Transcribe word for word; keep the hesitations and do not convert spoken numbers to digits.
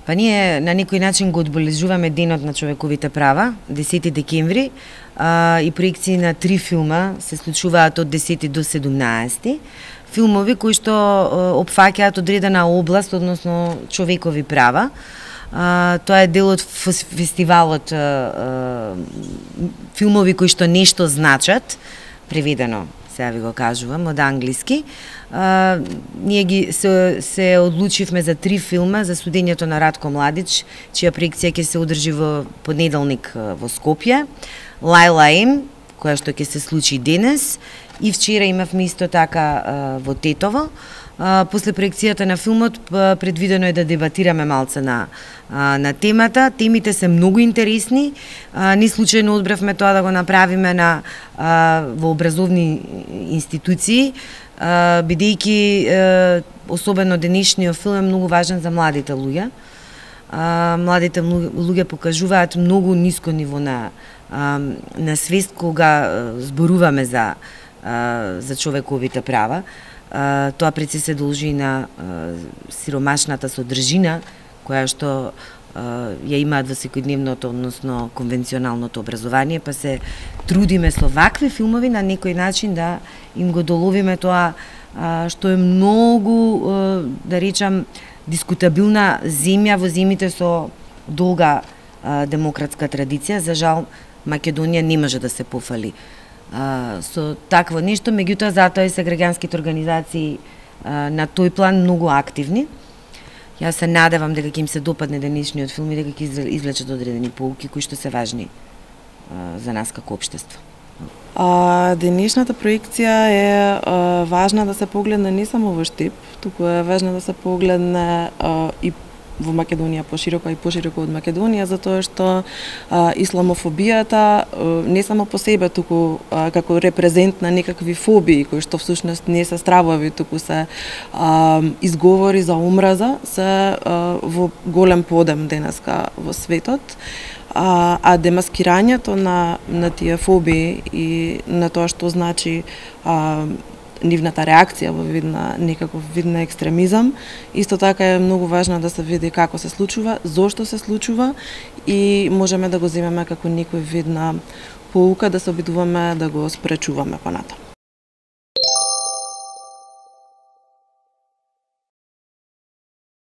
Па ние на некој начин го одбележуваме денот на човековите права, десети декември, а, и проекции на три филма се случуваат од десети до седумнаесети. Филмови кои што опфаќаат одредена област, односно човекови права. А, тоа е дел од фестивалот а, а, филмови кои што нешто значат, преведено, сега ви го кажувам, од англиски. А, ние ги се, се одлучивме за три филма за судењето на Ратко Младич, чија проекција ќе се одржи во понеделник во Скопје, Лајла М, која што ќе се случи денес, и вчера имавме исто така а, во Тетово. А, после проекцијата на филмот предвидено е да дебатираме малце на, а, на темата. Темите се многу интересни. А, не случајно одбравме тоа да го направиме на, а, во образовни институции, а, бидејќи а, особено денешниот филм е многу важен за младите луѓе. А, младите луѓе покажуваат многу ниско ниво на, а, на свест кога зборуваме за, а, за човековите права. Uh, тоа пред се се должи на uh, сиромашната содржина која што uh, ја имаат во секојдневното, односно конвенционалното образование, па се трудиме со вакви филмови на некој начин да им го доловиме тоа uh, што е многу, uh, да речам, дискутабилна земја во земјите со долга uh, демократска традиција. За жал, Македонија не може да се пофали Uh, со такво нешто, меѓутоа затоа и се граѓанските организации uh, на тој план многу активни. Јас се надевам дека ќе им се допадне денешниот филм и дека ќе извлечат одредени поуки кои што се важни uh, за нас како општество. А, денешната проекција е а, важна да се погледне не само во Штип, туку е важна да се погледне а, и во Македонија пошироко и пошироко од Македонија, затоа што а, исламофобијата а, не само по себе, туку а, како репрезент на некакви фобии, кои што всушност не се стравови, туку се а, изговори за омраза, се а, во голем подем денеска во светот. А, а демаскирањето на, на тие фобии и на тоа што значи а, нивната реакција во вид на некаков вид на екстремизам, исто така е многу важно да се види како се случува, зошто се случува и можеме да го земеме како некој вид на поука да се обидуваме да го спречуваме понатаму.